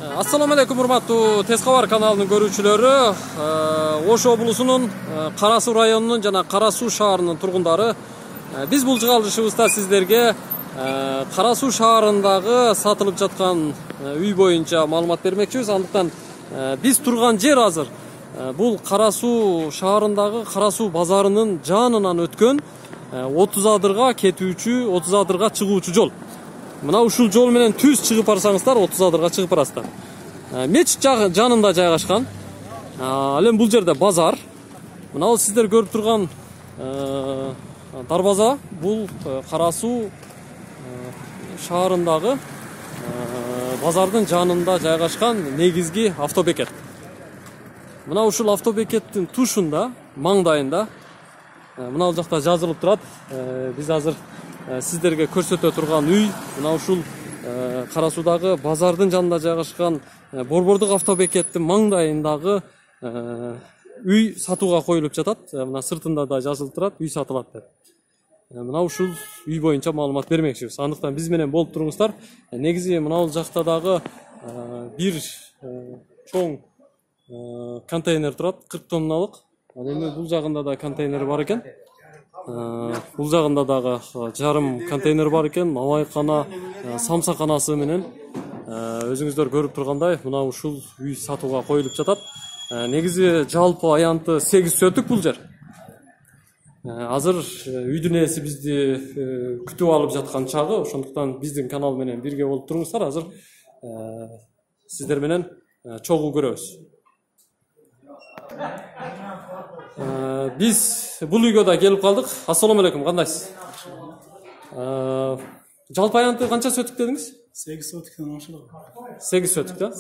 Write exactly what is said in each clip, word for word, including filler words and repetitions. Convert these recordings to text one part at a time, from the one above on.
Assalamu alaikum урматтуу Тез кабар каналынын көрүүчүлөрү. Ош облусунун Кара Суу районунун жана Кара Суу шаарынын тургундары. Биз бул чыгарылышыбызда сиздерге Кара Суу шаарындагы сатылып жаткан үй боюнча маалымат бермекчибиз. Андыктан биз турган жер азыр бул Кара Суу шаарындагы Кара Суу базарынын жанынан өткөн отуз адырга кетүүчү, отуз адырга чыгуучу жол. Мына ушул жол менен түз чыгып барсаңыздар, отуз адырга чыгып барасыздар. Мечит жанында жайгашкан. Ал эми бул жерде базар. Мына ал сиздер көрүп турган дарбаза бул Кара Суу шаарындагы базардын жанында жайгашкан негизги автобекет. Мына ушул автобекеттин тушунда, маңдайында мына ал жакта жазылып турат. Биз азыр сиздерге көрсөтө турган үй мына ушул Кара Суудагы базардын жанында жайгашкан борбордук автобекеттин маңдайындагы үй сатууга коюлуп жатат. Мына сыртында да жазылып турат, үй сатылат деп. Мына ушул үй боюнча маалымат бермекчибиз. Андыктан биз менен болуп туруңуздар. Негизи мына бул жакта дагы бир чоң контейнер турат, кырк тонналык. Ал эми бул жагында да контейнер бар экен. Бул жагында дагы жарым контейнер бар экен. Мамайкана, самсаканасы менен өзүңүздөр көрүп тургандай мына ушул үй сатууга коюлуп жатат. Негизи жалпы аянты сегиз соток бул жер. Азыр үйдүн ээси бизди күтүп алып жаткан чагы, ошондуктан биздин канал менен бирге болуп туруңуздар. Азыр сиздер менен чогуу көрөбүз. Биз бул үйгө да келип калдык. Ассаламу алейкум, кандайсыз? Жалпы аянты канча соток дедиңиз? сегиз сотоктон ашык. сегиз соток да?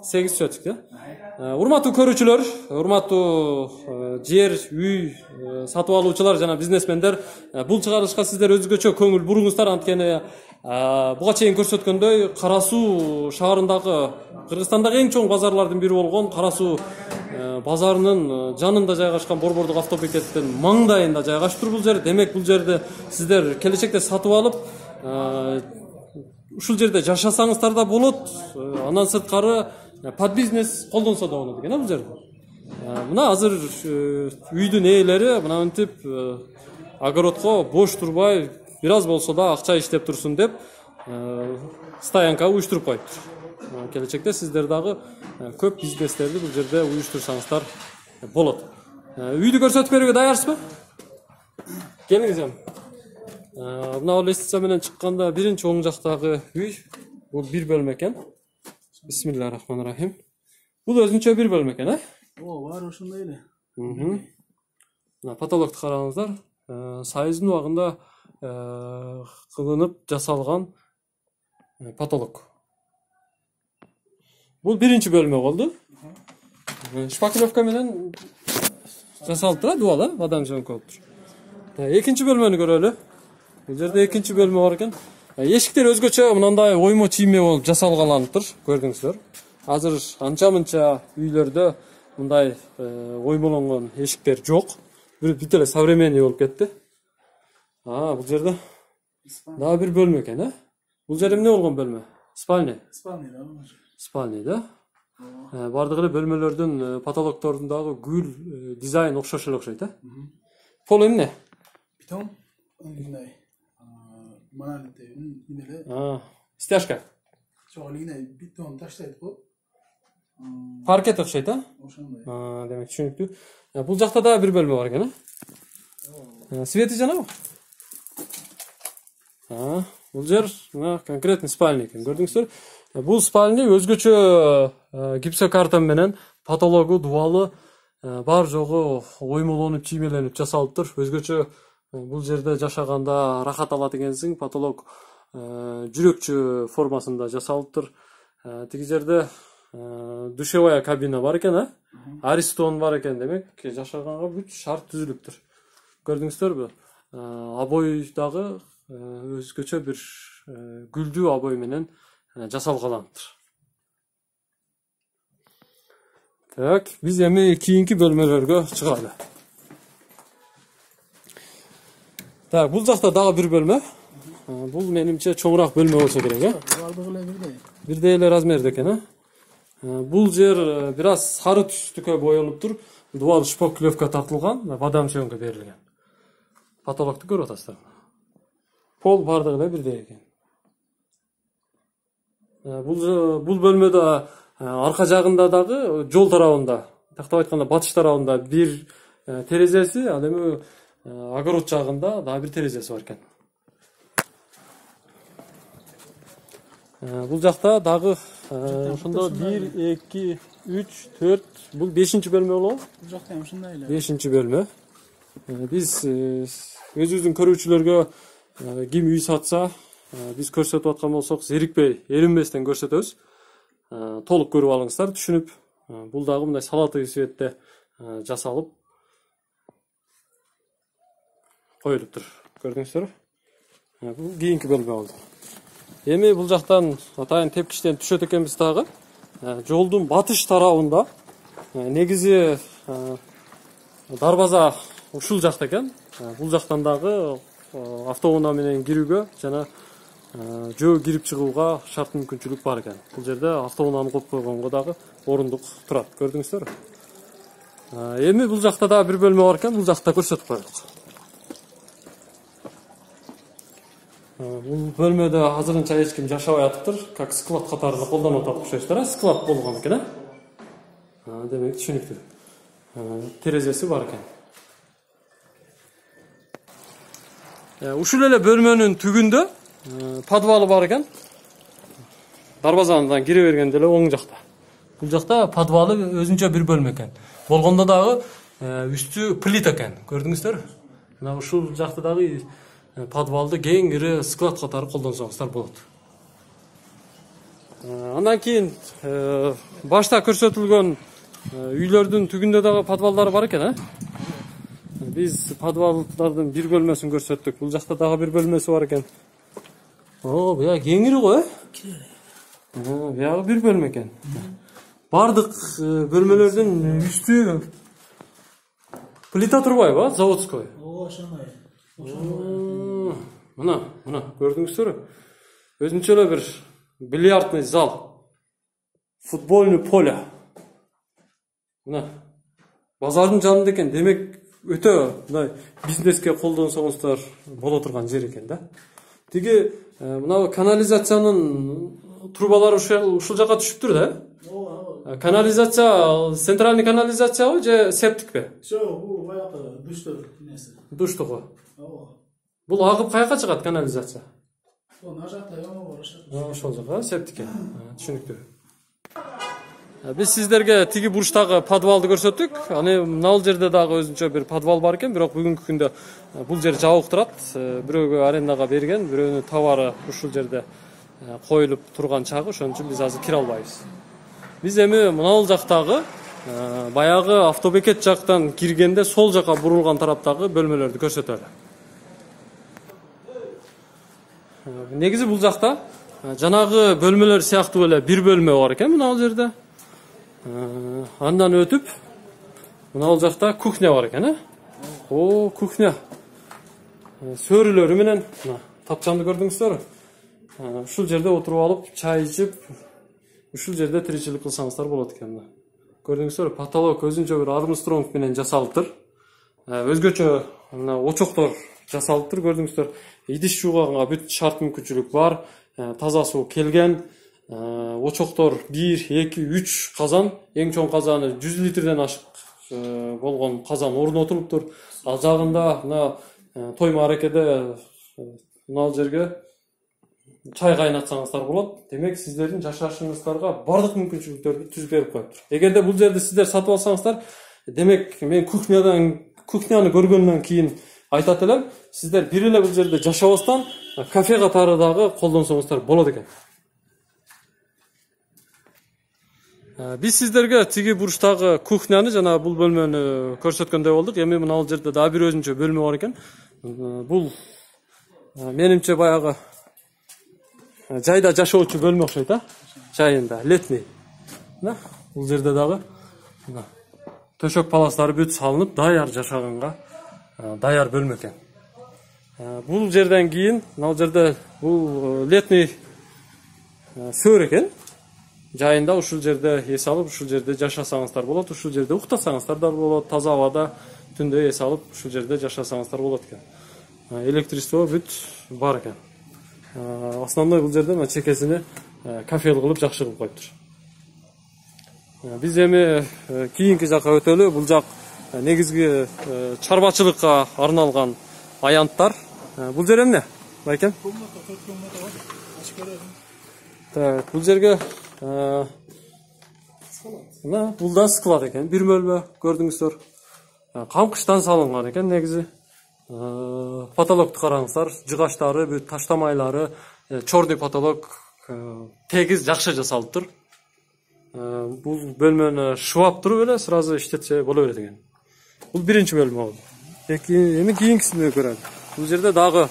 сегиз соток да? Урматтуу көрүүчүлөр, урматтуу жер, үй сатып алуучулар жана бизнесмендер, бул чыгарылышка сиздер өзгөчө көңүл буруңуздар. Анткени буга чейин көрсөткөндөй Кара Суу шаарындагы Кыргызстандагы эң чоң базарлардын бири болгон Кара Суу базарынын жанында жайгашкан борбордук автобекеттин маңдайында жайгашып бул жер. Демек бул жерде сиздер келечекте сатып алып ушул жерде жашасаңыздар да болот. Андан сырткары под бизнес колдонсо да болот экен бул жерде. Мына азыр үйдүн ээлери мына мынтип огородко бош турбай бир аз болсо да акча иштеп турсун деп стоянка уюштуруп коюптур. Келечекте сиздер дагы көп бизнестерди бул жерде уюштурсаңыздар болот. Үйдү көрсөтүп берүүгө даярсызбы? Келиңиз эми. Мына лестница менен чыкканда биринчи оң жактагы үй бул бир бөлмө экен. Бисмиллахир-рахманир-рахим. Бул өзүнчө бир бөлмө экен, э? О, бар ошондой эле. Мына потолокту караңыздар. Сайыздын убагында кылынып жасалган потолок. Бул биринчи бөлмө болду. Шпаклевка менен жасалып турат, дубал, э? Адам жөнкө болуп тур. Экинчи бөлмөнү көрөлү. Бул жерде экинчи бөлмө бар экен. Эшиктер өзгөчө мындай оймо чийме болуп жасалгаланыптыр, көрдүңүздөр. Азыр анча-мынча үйлөрдө мындай оймолонгон эшиктер жок. Бүт эле современный болуп кетти. А, бул жерде дагы бир бөлмө экен, э? Бул жер эмне болгон бөлмө? Спальня. Спальня да. Спальня да. Бардык эле бөлмөлөрдүн потолокторундагы гүл дизайн окшош эле окшойт, э? Пол эмне? Бетон, мындай монолиттен эле. А, стяжка. Жок, эле бетон таштайт го. Паркет окшойт, а? Ошондой. А, демек түшүнүктүү. Бул жакта да бир бөлмө бар экен, э? Свети жанабы? А, бул жер мына конкретный спальня экен, көрдүңүздөр. Бул спальня өзгөчө гипсокартон менен потологу, дубалы бар жогу оймолонуп, чиймеленип жасалыптыр. Өзгөчө бул жерде жашаганда рахат алат экенсиң. Потолок жүрөкчө формасында жасалыптыр. Тиги жерде душевая кабина бар экен, э? Аристон бар экен, демек жашаганга бүт шарт түзүлүптүр. Көрдүңүздөрбү? Обой дагы өзгөчө бир гүлдүү обой менен жасалгаланыптыр. Так, биз эми кийинки бөлмөлөргө чыгалы. Так, бул жакта дагы бир бөлмө. Бул менимче чоңураак бөлмө болсо керек, э? Бардыгы эле бирдей. Бирдей эле размерде экен, э? Бул жер бир аз сары түстүккө боелуп тур. Дубал шпаклевка тартылган, бадам сөөнгө берилген. Потолокту көрүп атасыздар. Пол бардыгы эле бирдей экен. Бул бул бөлмөдө арка жагында дагы жол тарабында, тактап айтканда батыш тарабында бир терезеси, ал эми огород жагында дагы бир терезеси бар экен. Бул жакта дагы ошондо бир, эки, үч, төрт, бул бешинчи бөлмө болобу? Бул жакта ham ушундай эле. бешинчи бөлмө. Биз өзүбүздүн көрүүчүлөргө ким үй сатса, биз көрсөтүп аткан болсок, зерикпей, эринбестен көрсөтөбүз. Толук көрүп алыңыздар, түшүнүп. Бул дагы мындай салатый светте жасалып коюлуптур. Көрдүңүздөрбү? Бул кийинки бөлмө болду. Эми бул жактан атайын тепкичтен түшөт экенбиз дагы. Жолдун батыш тарабында негизи дарбаза ушул жакта экен. Бул жактан дагы автоунаа менен кирүүгө жана жөө кирип чыгууга шарт мүмкүнчүлүк бар экен. Бул жерде автоунааны коюп койгонго дагы орундук турат. Көрдүңүздөрбү? Эми бул жакта дагы бир бөлмө бар экен. Бул жакта көрсөтүп коелук. Бул бөлмөдө азырынча эч ким жашабай атыптыр. Как склад катарында колдонуп атат окшойсуздар, склад болгон экен, э? Демек түшүнүктүү. Терезеси бар экен. Ушул эле бөлмөнүн түгүндө подвалы бар экен. Дарбазадан кире бергенде эле оң жакта. Бул жакта подвалы өзүнчө бир бөлмө экен. Болгондо дагы үстү плита экен. Көрдүңүздөрбү? Мына ушул жакта дагы подвалды кең ири склад катары колдонсоңуздар болот. Андан кийин башта көрсөтүлгөн үйлөрдүн түгүндө дагы подвалдары бар экен, э? Биз подвалдардын бир бөлмөсүн көрсөттүк. Бул жакта дагы бир бөлмөсү бар экен. О, буя кеңири го, э? Буягы бир бөлмө экен. Бардык бөлмөлөрдүн үстү плита турбайбы, заводской? Ооба, ошондой. Мына, мына, көрдүңүздөрбү? Өзүнчө эле бир бильярдный зал. Футбольный поле. Мына. Базардын жанында экен. Демек, өтө мындай бизнеске колдонсоңуздар боло турган жер экен да. Тиги мына канализациянын трубалары ушул жака түшүптүр да? Ооба. Канализация, центральный канализациябы же септикпи? Жок, бул баягы душтук нерсе. Душтугу. Ооба. Бул агып каяка чыгат канализация? Ана жакта яңа бар ошол. Ошол жака септикке. Түшүнүктүү. Биз сиздерге тиги бурчтагы подвалды көрсөттүк. Аны мына жерде дагы өзүнчө бир подвал бар экен, бирок бүгүнкү күндө бул жер жабык турат. Бирөөгө арендага берген, бирөөнүн товары ушул жерде коюлуп турган чагы, ошон үчүн биз азыр кире албайбыз. Биз эми мына жактагы баягы автобекет жактан киргенде сол жака бурулган тараптагы бөлмөлөрдү көрсөтөлү. Негизи бул жакта жанагы бөлмөлөр сыяктуу эле бир бөлмө бар экен мына бул жерде. Андан өтүп мына бул жакта кухня бар экен, э? О, кухня. Сөрүлөрү менен мына тапчанды көрдүңүздөрбү? Ушул жерде отуруп алып, чай ичип, ушул жерде тиричилик кылсаңыздар болот экен мына. Көрдүңүздөрбү? Потолок өзүнчө бир Армстронг менен жасалыптыр. Өзгөчө мына очоктор жасалыптыр, көрдүңүздөр. Идиш жууганга бүт шарт мүмкүнчүлүк бар. Таза суу келген. Очоктор бир, эки, үч казан, эң чоң казаны жүз литрден ашык болгон казан орнотулуптур. Ал жагында мына той мааракеде мына жерге чай кайнатсаңыздар болот. Демек, сиздердин жашашыңыздарга бардык мүмкүнчүлүктөрдү түзүп берип коюптур. Эгерде бул жерде сиздер сатып алсаңыздар, демек мен кухнядан кухняны көргөндөн кийин айтат элем, сиздер бир эле бул жерде жашабастан кафе катары дагы колдонсоңуздар болот экен. Биз сиздерге тиги бурчтагы кухняны жана бул бөлмөнү көрсөткөндөй болдук. Эми мына бул жерде дагы бир өзүнчө бөлмө бар экен. Бул менимче баягы жайда жашоочу бөлмө окшойт, а? Жайында, летний. Мына бул жерде дагы төшөк паластары бүт салынып, даяр жашаганга даяр бөлмө экен. Бул жерден кийин мына жерде бул летний сөр экен. Жайында ушул жерде эс алып, ушул жерде жашасаңыздар болот, ушул жерде уктасаңыздар да болот, таза абада түндө эс алып, ушул жерде жашасаңыздар болот экен. Электричество бүт бар экен. Основной бул жерде мына чекесине кафе кылып жакшы кылып коюптур. Биз эми кийинки жакка өтөлү. Бул жак негизги чарбачылыкка арналган аянттар. Бул жер эмне? Байкем? Так, бул жерге мына бул да склад экен. Бир бөлмө көрдүңүздөр. Камкычтан салынган экен негизи. Потолокту караңыздар, жыгаштары, бүт таштамайлары, чорный потолок тегиз жакшы жасалыптыр. Бул бөлмөнү шыбап туруп эле сразу иштетсе боло берет экен. Бул биринчи бөлмө болду. Эми кийинкисини көрөлү. Бул жерде дагы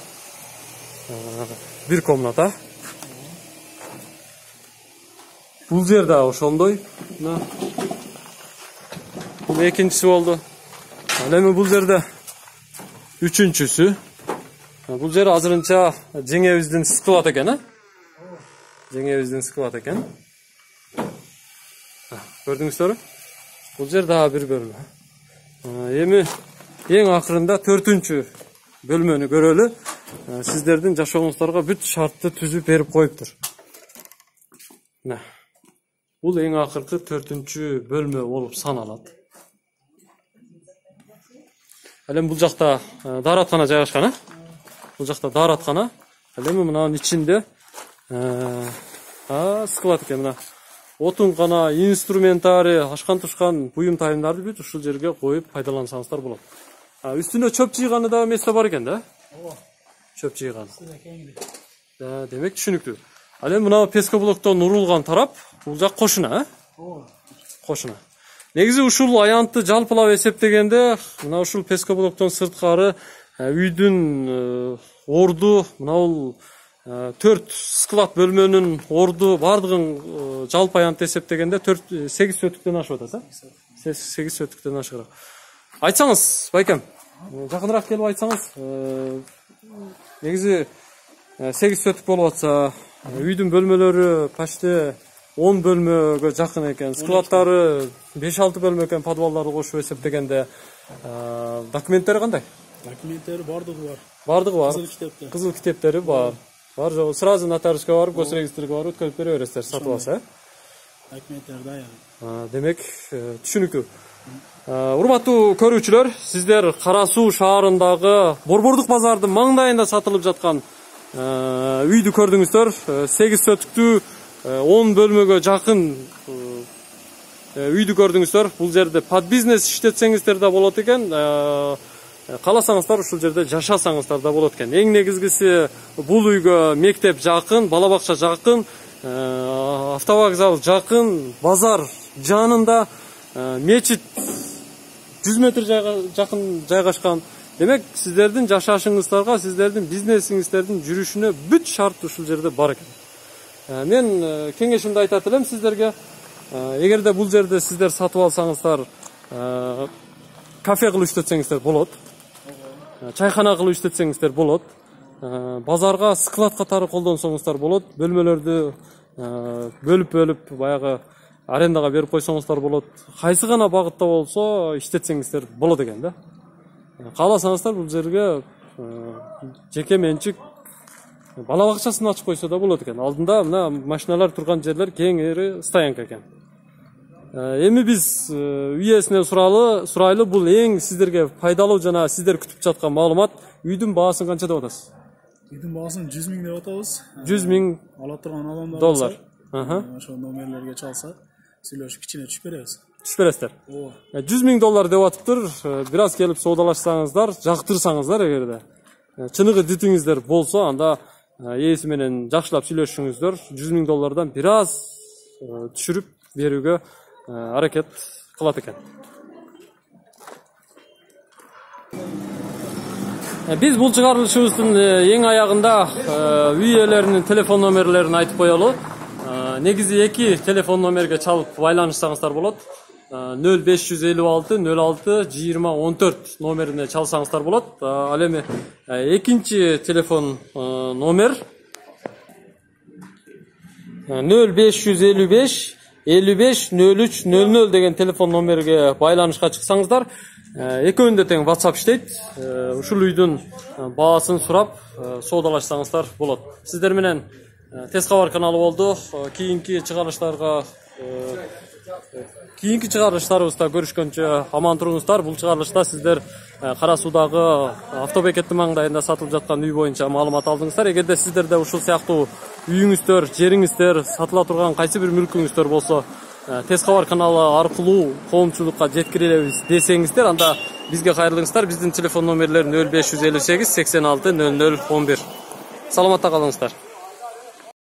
бир комната. Бул жер да ошондой. Бул экинчиси болду. Ал эми бул жерде үчүнчүсү. Бул жер азырынча жеңебиздин склад экен, а? Жеңебиздин склад экен. Көрдүңүздөрбү? Бул жер дагы бир бөлмө. Эми эң акырында төртүнчү бөлмөнү көрөлү. Сиздердин жашооңуздарга бүт шартты түзүп берип коюптур. Мына. Бул эң акыркы төртүнчү бөлмө болуп саналат. Ал эми бул жакта даараткана жайгашкан, а? Бул жакта даараткана. Ал эми мынанын ичинде а склад экен мына. Отункана, инструментари, ашкан-тушкан буюм тайымдарды бүт ушул жерге коюп пайдалансаңыздар болот. Үстүнө чөп жыйганы да место бар экен да? Ооба. Чөп жыйган. Да, демек түшүнүктүү. Ал эми мына пескоблоктон урулган тарап бул жак кошуна, а? Ооба. Кошуна. Негизи ушул аянтты жалпылап эсептегенде, мына ушул пескоблоктон сырткары үйдүн орду, мына бул төрт склад бөлмөнүн орду бардыгын жалпы аянтты эсептегенде сегиз сөтүктөн ашып атат, а? сегиз сөтүктөн ашыгыраак. Айтсаңыз, байкем, жакыныраак келип айтсаңыз, негизи сегиз сөтүк болуп атса, үйдүн бөлмөлөрү почти он бөлмөгө жакын экен, складдары беш алты бөлмө экен, подвалдарды кошуп эсептегенде. Документтери кандай? Документтери бардыгы бар. Бардыгы бар. Кызыл китептер. Кызыл китептери бар. Бар жок, сразу нотариуска барып, госрегистрге барып өткөрүп бере бересиздер, сатып алса, э? Документтер даяр. Демек, түшүнүктүү. Урматтуу көрүүчүлөр, сиздер Кара Суу шаарындагы Борбордук базардын маңдайында сатылып жаткан үйдү көрдүңүздөр. сегиз сөтүктүү он бөлмөгө жакын үйдү көрдүңүздөр. Бул жерде под бизнес иштетсеңиздер да болот экен. Кааласаңыздар ушул жерде жашасаңыздар да болот экен. Эң негизгиси бул үйгө мектеп жакын, бала бакча жакын, автовокзал жакын, базар жанында, мечит жүз метр жакын жайгашкан. Демек, сиздердин жашашыңыздарга, сиздердин бизнесиңиздердин жүрүшүнө бүт шарт ушул жерде бар экен. Мен кеңешимди айтат элем сиздерге. Эгерде бул жерде сиздер сатып алсаңыздар, кафе кылып иштетсеңиздер болот. Чайхана кылып иштетсеңиздер болот. Базарга склад катары колдонсоңуздар болот. Бөлмөлөрдү бөлүп-бөлүп баягы арендага берип койсоңуздар болот. Кайсы гана багытта болсо иштетсеңиздер болот экен да. Кааласаңыздар бул жерге жеке менчик бала бакчасын ачып койсо да болот экен. Алдында мына машиналар турган жерлер кеңири стоянка экен. Эми биз үй ээсинен суралы, сурайлы бул эң сиздерге пайдалуу жана сиздер күтүп жаткан маалымат. Үйдүн баасын канча деп атасыз? Үйдүн баасын жүз миң деп атабыз. жүз миң ала турган адамдар доллар. Ошол номерлерге чалса, сүйлөшүп кичине түшүп беребиз. Түшүп бересиздер. Ооба. жүз миң доллар деп атыптыр. Бир аз келип соодалашсаңыздар, жактырсаңыздар эгерде. Чыныгы дитиңиздер болсо, анда ээси менен жакшылап сүйлөшүңүздөр. жүз миң доллардан бир аз түшүрүп берүүгө аракет кылат экен. Биз бул чыгарылышыбыздын эң аягында үй ээлеринин телефон номерлерин айтып коелу. Негизи эки телефон номерге чалып байланышсаңыздар болот. нөл беш жүз элүү алты нөл алты жыйырма он төрт номерине чалсаңыздар болот. Ал эми экинчи телефон номер нөл беш жүз элүү беш элүү беш нөл үч нөл нөл деген телефон номерге байланышка чыксаңыздар, экөөндө тең WhatsApp иштейт. Ушул үйдүн баасын сурап соодалашсаңыздар болот. Сиздер менен Тез кабар каналы болду. Кийинки чыгарылыштарга кийинки чыгарылыштарыбызда көрүшкөнчө аман туруңуздар. Бул чыгарылышта сиздер Кара Суудагы автобекеттин маңдайында сатылып жаткан үй боюнча маалымат алдыңыздар. Эгерде сиздерде ушул сыяктуу үйүңүздөр, жериңиздер, сатыла турган кайсы бир мүлкүңүздөр болсо, Тез кабар каналы аркылуу коомчулукка жеткирелебиз десеңиздер, анда бизге кайрылыңыздар. Биздин телефон номерлер нөл беш жүз элүү сегиз сексен алты нөл нөл он бир. Саламатта калыңыздар.